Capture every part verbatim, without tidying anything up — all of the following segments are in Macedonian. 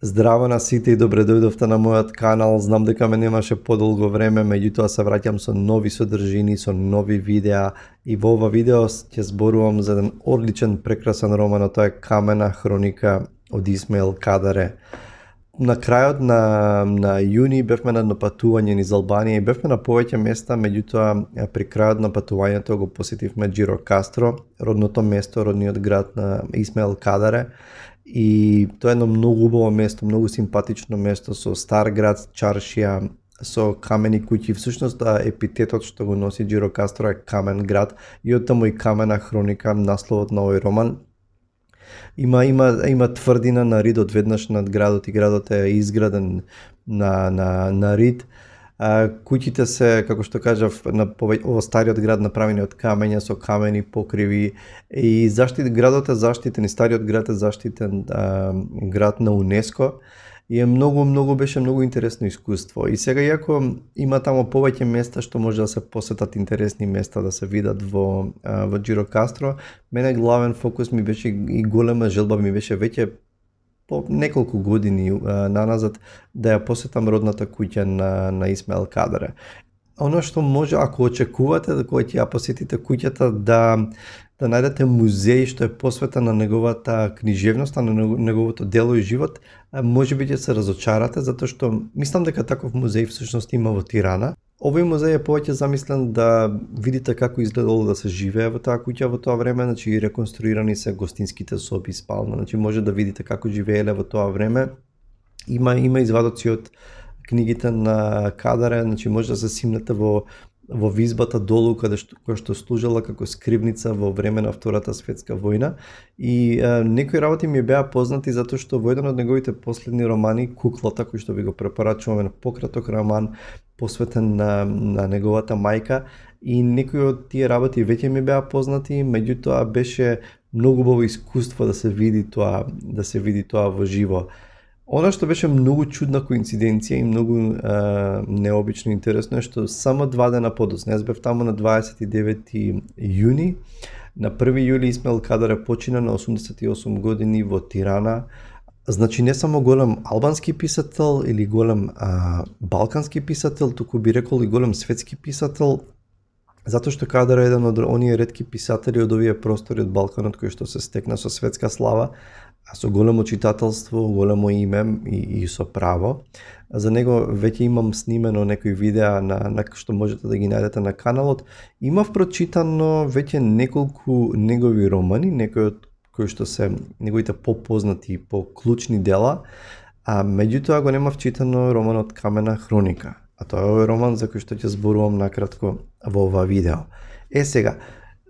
Здраво на сите и добре дојдовте на мојот канал. Знам дека ме немаше подолго време, меѓутоа се враќам со нови содржини, со нови видеа и во ова видео ќе зборувам за еден одличен, прекрасен роман, а тоа е Камена хроника од Исмаил Кадаре. На крајот на, на јуни бевме на патување низ Албанија и бевме на повеќе места, меѓутоа при крајот на патувањето го посетивме Џирокастро, родното место, родниот град на Исмаил Кадаре. И тоа е едно многу убаво место, многу симпатично место со стар град, чаршија, со камени куќи. Всушност епитетот што го носи Џирокастро е камен град и оттаму и Камена хроника, насловот на овој роман. Има има има тврдина на рид одведнаш над градот и градот е изграден на на на рид. А, куќите се, како што кажав, на ово стариот град направени од камења со камени покриви и заштит градот е заштитен, и стариот град е заштитен а, град на УНЕСКО и е многу многу беше многу интересно искуство. И сега иако има таму повеќе места што може да се посетат, интересни места да се видат во а, во Џирокастро, мене главен фокус ми беше и голема желба ми беше веќе по неколку години а, наназад да ја посетам родната куќа на, на Исмаил Кадаре. Оно што може, ако очекувате да кога ќе ја посетите куќата, да да најдете музеј што е посветен на неговата книжевност, на неговото дело и живот, може би ќе се разочарате, затоа што мислам дека таков музеј всушност има во Тирана. Овој музеј е повеќе замислен да видите како изгледало да се живее во таа куќа во тоа време, значи реконструирани се гостинските соби, спална, значи може да видите како живееле во тоа време. Има има извадоци од книгите на Кадаре, значи може да се симнете во во визбата долу каде што која што служела како скривница во време на Втората светска војна и а, некои работи ми беа познати затоа што во еден од неговите последни романи, Куклата, кој што ви го препорачуваме, пократок роман посветен на на неговата мајка, и некои од тие работи веќе ми беа познати, меѓутоа беше многу убаво искуство да се види тоа, да се види тоа во живо. Она што беше многу чудна коинциденција и многу а, необично интересно е што само два дена подоцна, јас бев таму на дваесет и девети јуни, на први јули Исмаил Кадаре почина на осумдесет и осум години во Тирана. Значи не само голем албански писател или голем а, балкански писател, туку би рекол и голем светски писател, затоа што Кадаре е еден од оние ретки писатели од овие простори од Балканот кои што се стекна со светска слава, а со големо читателство, големо име и, и со право. За него веќе имам снимено некои видеа на, на што можете да ги најдете на каналот. Имав прочитано веќе неколку негови романи, некои од кои што се неговите попознати и поклучни дела, а меѓутоа го немав читано романот Камена хроника. А тоа е овој роман за кој што ќе зборувам накратко во ова видео. Е сега,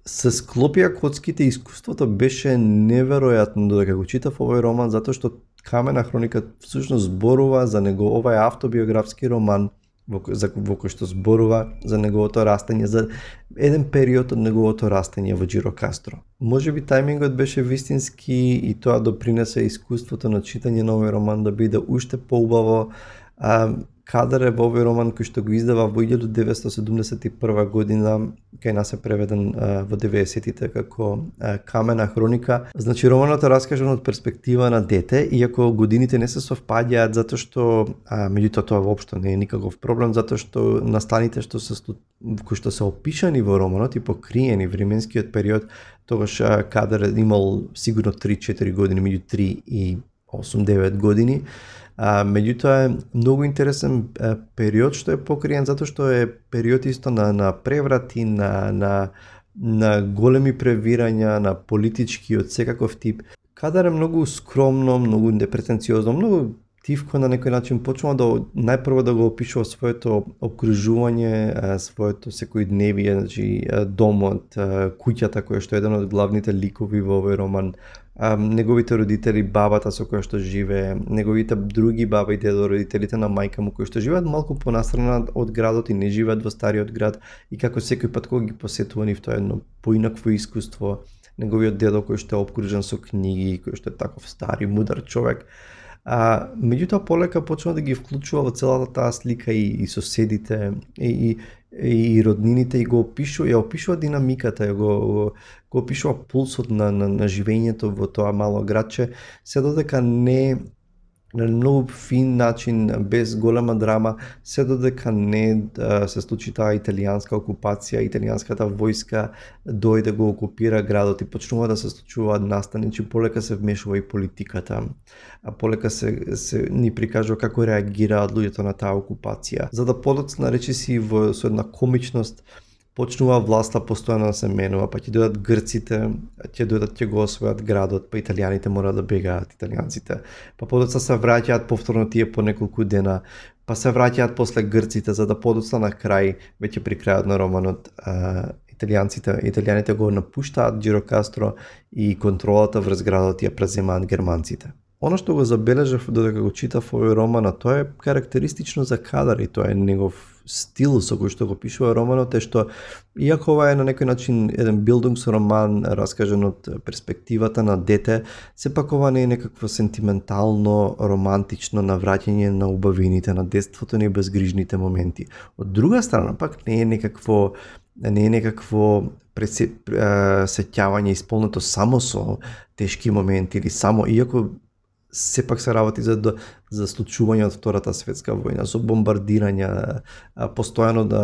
се склопија коцките, искуството беше неверојатно додека го читав овој роман, затоа што Камена хроника всушност зборува за него, ова е автобиографски роман во, за, во кој што зборува за неговото растење, за еден период од неговото растење во Џирокастро. Може би тајмингот беше вистински и тоа допринесе искуството на читање на овој роман да биде уште поубаво. А, Кадаре во овој роман кој што го издава во илјадум деветстотини седумдесет и прва година, кај нас е преведен а, во деветдесетите како а, Камена хроника. Значи романот е раскажан од перспектива на дете, иако годините не се совпаѓаат затоа што а, меѓутоа тоа воопшто не е никаков проблем, затоа што настаните што се кои што се опишани во романот и покриени временскиот период, тогаш а, Кадаре имал сигурно три-четири години, меѓу три и осум-девет години. А, меѓутоа е многу интересен а, период што е покриен затоа што е период исто на на преврати, на на на големи превирања, на политички од секаков тип. Кадаре многу скромно, многу непретенциозно, многу тивко на некој начин почнува да најпрво да го опишува своето обкружување, своето секојдневие, значи домот, куќата која што е еден од главните ликови во овој роман, неговите родители, бабата со која што живее, неговите други баба и дедо, родителите на мајка му кои што живеат малку понастрана од градот и не живеат во стариот град, и како секој пат кога ги посетува нив тоа едно поинакво искуство, неговиот дедо кој што е обкружен со книги, кој што е таков стар и мудар човек. А, меѓутоа полека почнува да ги вклучува во целата таа слика и, и соседите и, и, и роднините и го опишува, ја опишува динамиката, ја го, го, го опишува пулсот на, на, на живењето во тоа мало градче, се додека не на многу фин начин, без голема драма, се додека не а, се случи таа италијанска окупација, италијанската војска дојде го окупира градот и почнува да се случуваат настани, че полека се вмешува и политиката, а полека се, се ни прикажува како реагираат луѓето на таа окупација. За да подоцна речиси во со една комичност, почнува власта постојано да се менува, па ќе дојдат грците, ќе дојдат ќе го освојат градот, па италијаните мора да бегаат, италијанците. Па подоцна се враќаат повторно тие по неколку дена, па се враќаат после грците, за да подоцна на крај, веќе при крајот на романот, а, италијанците, италијаните го напуштаат Џирокастро и контролата врз градот ја преземаат германците. Оно што го забележав додека го читав овој роман, тоа е карактеристично за Кадар и тоа е негов стил со кој што го пишува романот, е што иако ова е на некој начин еден билдингс-роман раскажан од перспективата на дете, сепак ова не е некакво сентиментално, романтично навраќање на убавините на детството ни, безгрижните моменти. Од друга страна пак не е некакво не е некакво сеќавање исполнето само со тешки моменти или само, иако сепак се работи за, за случување од Втората светска војна, со бомбардирања, постојано да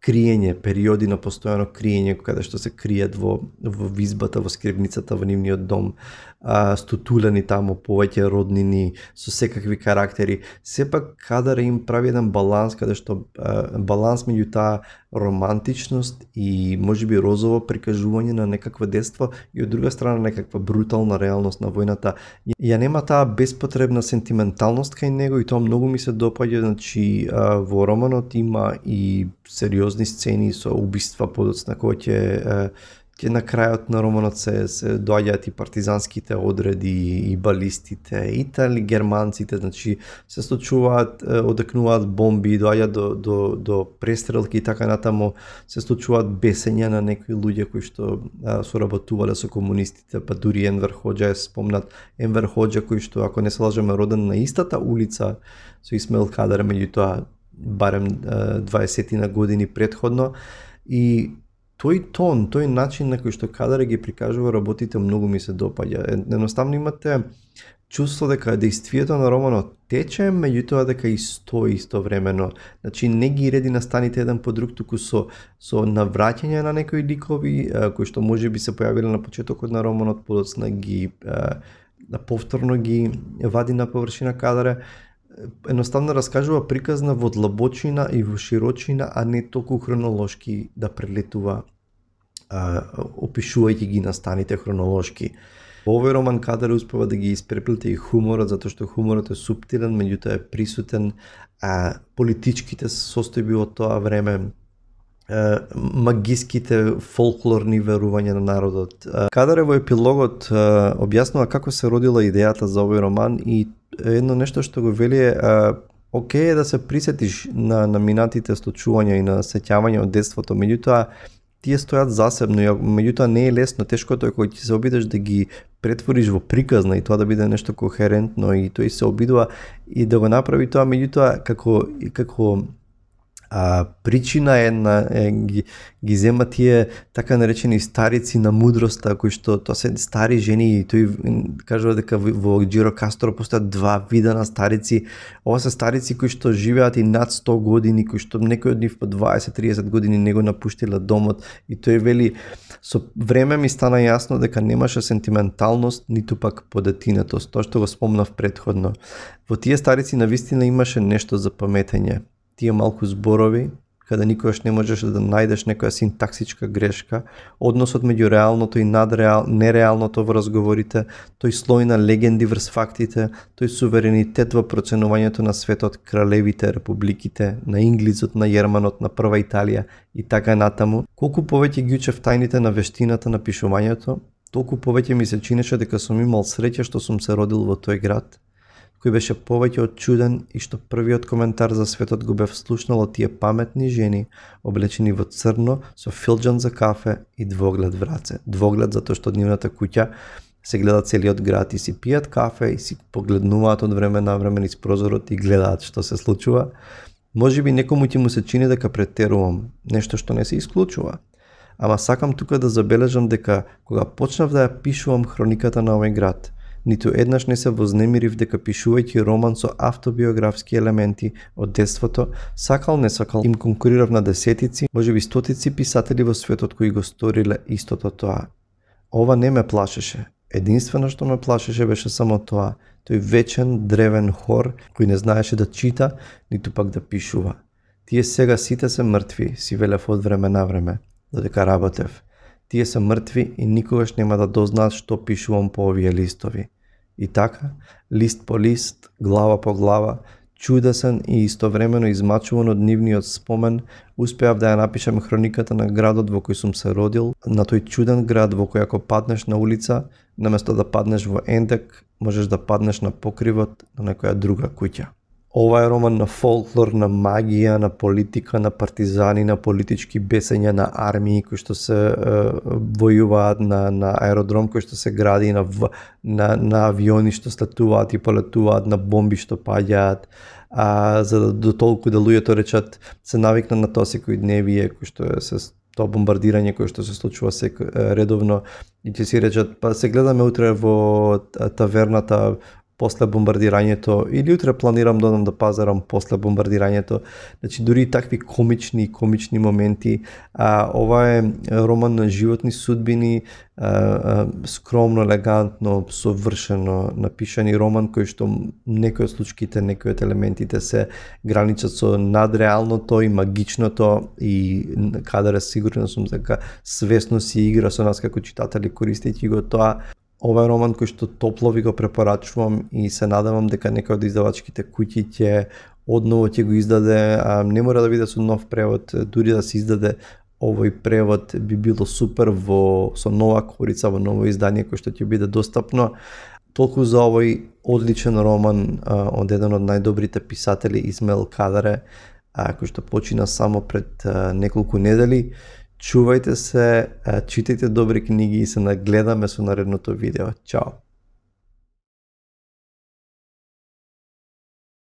криење, периоди на постојано криење, каде што се криет во, во визбата, во скривницата, во нивниот дом, а, стутулени таму, повеќе роднини, со секакви карактери. Сепак Кадар им прави еден баланс, каде што а, баланс меѓу таа романтичност и можеби розово прикажување на некакво детство и од друга страна некаква брутална реалност на војната. Ја нема таа беспотребна сентименталност кај него и тоа многу ми се допаѓа, значи а, во романот има и сериозни сцени со убиства подоцна кои ќе ќе на крајот на романот се, се доаѓаат и партизанските одреди, и балистите, и тали германците, значи се случуваат, одекнуваат бомби, доаѓаат до, до, до престрелки и така натаму, се случуваат бесења на некои луѓе кои што а, соработувале со комунистите, па дури Енвер Хоџа е спомнат, Енвер Хоџа кој што, ако не се лажеме, роден на истата улица со Исмаил Кадар, меѓутоа барем дваесет години предходно, и тој тон, тој начин на кој што Кадар ги прикажува работите многу ми се допаѓа. Едноставно имате чувство дека действието на романот тече, меѓутоа дека и стои истовремено. Значи не ги реди настаните еден по друг, туку со со навраќање на некои ликови кои што можеби се појавиле на почетокот на романот, подоцна ги а, повторно ги вади на површина Кадаре. Едноставно раскажува приказна во длабочина и во широчина, а не толку хронолошки да прелетува, а, опишувајќи ги настаните хронолошки. Во овој роман Кадар успева да ги испреплете и хуморот, затоа што хуморот е суптилен, меѓутоа е присутен, а политичките состојби од тоа време, магиските фолклорни верувања на народот. Кадар во епилогот објаснува како се родила идејата за овој роман и едно нешто што го вели е окей е да се присетиш на, на минатите случувања и на сеќавања од детството, меѓутоа тие стојат засебно, меѓутоа не е лесно, тешкото е кој ќе се обидеш да ги претвориш во приказна и тоа да биде нешто кохерентно и тој се обидува и да го направи тоа, меѓутоа како како а, причина една е, ги, ги зема тие така наречени старици на мудроста, кои што тоа се стари жени и тој кажува дека во Џирокастро постојат два вида на старици. Ова се старици кои што живеат и над сто години, кои што некои од нив по дваесет до триесет години не го напуштиле домот и тој вели со време ми стана јасно дека немаше сентименталност ниту пак подетинетост, тоа што го спомнав претходно. Во тие старици навистина имаше нешто за паметење. Тие малку зборови, каде никогаш не можеш да најдеш некоја синтаксичка грешка, односот меѓу реалното и надреал, нереалното во разговорите, тој слој на легенди врз фактите, тој суверенитет во проценувањето на светот, кралевите, републиките, на инглизот, на Јерманот, на прва Италија и така натаму. Колку повеќе ги учев тајните на вештината на пишувањето, толку повеќе ми се чинеше дека сум имал среќа што сум се родил во тој град, кој беше повеќе од чуден и што првиот коментар за светот го бев слушнал од тие паметни жени, облечени во црно, со филџан за кафе и двоглед враце. Двоглед затоа што од нивната куќа се гледа целиот град и си пијат кафе и си погледнуваат од време на време низ прозорот и гледаат што се случува. Можеби некому ќе му се чини дека претерувам, нешто што не се исклучува. Ама сакам тука да забележам дека кога почнав да ја пишувам хрониката на овој град, Ниту еднаш не се вознемирив дека пишувајќи роман со автобиографски елементи од детството, сакал не сакал, им конкурирав на десетици, можеби стотици писатели во светот кои го сториле истото тоа. Ова не ме плашеше. Единствено што ме плашеше беше само тоа, тој вечен древен хор кој не знаеше да чита, ниту пак да пишува. Тие сега сите се мртви, си велев од време на време, додека работев. Тие се мртви и никогаш нема да дознаат што пишувам по овие листови. И така, лист по лист, глава по глава, чудесен и истовремено измачуван од нивниот спомен, успеав да ја напишам хрониката на градот во кој сум се родил, на тој чуден град во кој ако паднеш на улица, наместо да паднеш во ендек, можеш да паднеш на покривот на некоја друга куќа. Ова е роман на фолклор, на магија, на политика, на партизани, на политички бесења, на армии кои што се е, војуваат, на, на аеродром кој што се гради, на, на, на авиони што слетуваат и полетуваат, на бомби што паѓаат, а, за да до толку да луѓето речат се навикна на тоа секој дневие кој што е се тоа бомбардирање кој што се случува сек, редовно и ќе си речат па се гледаме утре во таверната после бомбардирањето или утре планирам да одам да пазарам после бомбардирањето. Значи дури такви комични комични моменти. А, ова е роман на животни судбини, а, а, скромно, елегантно, совршено напишани роман кој што некои од случките, некои од елементите се граничат со надреалното и магичното и каде сигурен сум дека свесно си игра со нас како читатели користејќи го тоа. Ова е роман кој што топло ви го препорачувам и се надевам дека некој од издавачките куќи ќе одново ќе го издаде, а не мора да биде со нов превод, дури да се издаде овој превод би било супер во со нова корица, во ново издание кој што ќе биде достапно. Толку за овој одличен роман а, од еден од најдобрите писатели Исмаил Кадаре, а, кој што почина само пред а, неколку недели. Чувајте се, читајте добри книги и се нагледаме со наредното видео. Чао!